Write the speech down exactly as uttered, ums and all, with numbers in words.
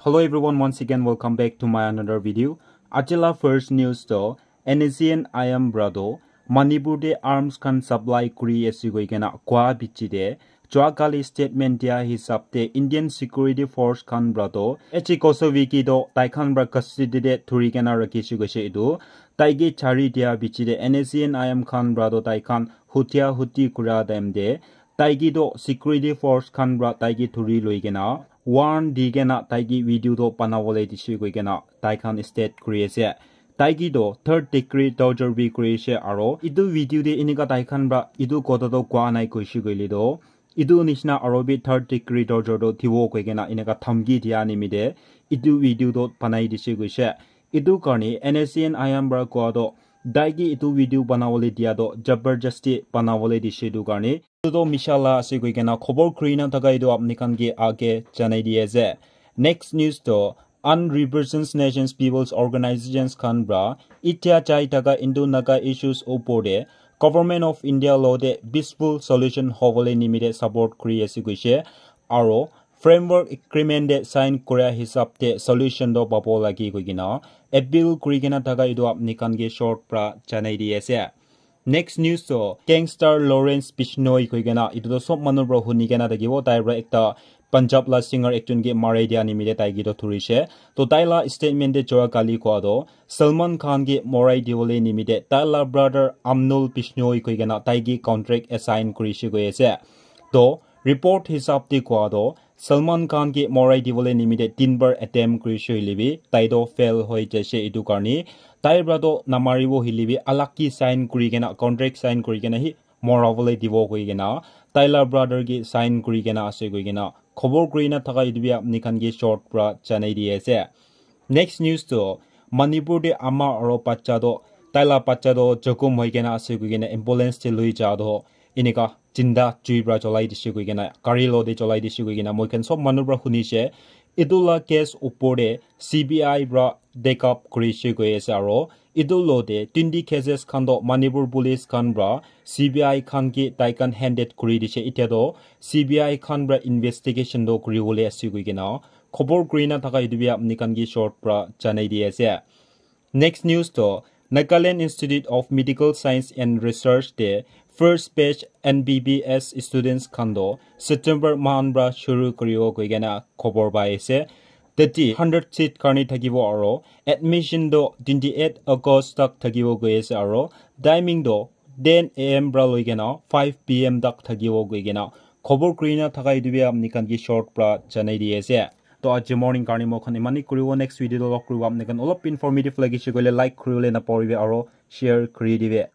Hello everyone, once again welcome back to my another video. Ajila first news to N S C N I M brado Manipur de arms khan supply kuri ase koi kena kwa bichi de jua kali statement dia hisab te Indian security force khan brado H Kosoviki do tai khan bra custody de thuri kena rakhi shi goise etu tai ke chari dia bichi de N S C N I M khan brado tai khan hutia huti kura time de taiki toh security force khan pra taiki thuri loi kena warrant di kena taiki video toh banabole dise koi kena tai khan state kuri ase. Taiki toh third degree torture bi kuri ase aro etu video te enika tai khan pra etu kotha toh koa nai koise koile toh etu nishina aro bi third degree torture toh thibo koi kena enika dhamki dia nimite etu video toh banai dise koise. Etu karne N S C N I M pra koa toh taiki etu video banabole dia toh jabardasti banabole dise etu karne etu toh misha la ase koi kena khobor kuri na thaka etu apni khan ke age janai di ase. Next news toh Unrepresented Nations Peoples Organizations khan pra itya chai thaka Indo Naga issues opor te Government of India lo te peaceful solution hobole nimite support kuri ase koise aro framework agreement te sign kura hisab te solution toh pabo lagi koi kena appeal kuri kena thaka etu apni khan ke short pra janai di ase. Next news toh gangster Lawrence Bishnoi koi kena etu toh sob manu pra huni kena thakibo tai pra ekta Punjab la singer ekjon ke marai dia nimite tai ke toh thurise. Toh tai la statement te jua kali koa toh Salman Khan ke morai dibole nimite tai la brother Amnul Bishnoi koi kena tai ke contract assign kurise koi ase. Toh report hisab te koa toh Salman Khan ke morai dibole nimite tin bar attempt kurise hoile bi tai toh fail hoi jaise etu karne tai pra toh namaribo hoile bi alag ke sign kuri kena contract sign kuri kena hi morabole dibo koi kena tai la brother ke sign kuri kena ase koi kena khobor kuri na thaka etu bi apni khan ke short pra janai di ase. Next news toh Manipur te ama aro bacha toh tai la bacha toh jokhom hoi kena ase koi kena ambulance te loi ja toh enika jinda jui pra cholai dise koi kena gari lo te cholai dise koi kena moi khan sob manu pra huni se etu la case opor te C B I pra take up kuri se koi ase aro etu lo te twenty cases khan toh Manipur police khan pra C B I khan ke tai khan handed kuri dise. Itya toh C B I khan pra investigation toh kuri bole ase koi kena khobor kuri na thaka etu bi apni khan ke short pra janai di ase. Next news toh Nagaland Institute of Medical Science and Research te first batch N B B S students khan toh September mahan pra shuru kuribo koi kena khobor pai ase. Tati hundred seat karne thakibo aro admission toh twenty eight August tak thakibo koi ase aro timing toh ten A M pra loi kena five P M tak thakibo koi kena khobor kuri na thaka etu bi apni khan ke short pra janai di ase. To aji morning karne moi khan imani kuribo, next video toh log kuribo. Apni khan olop informative lagise koile like kuribole napahoribe aro share kuri dibe.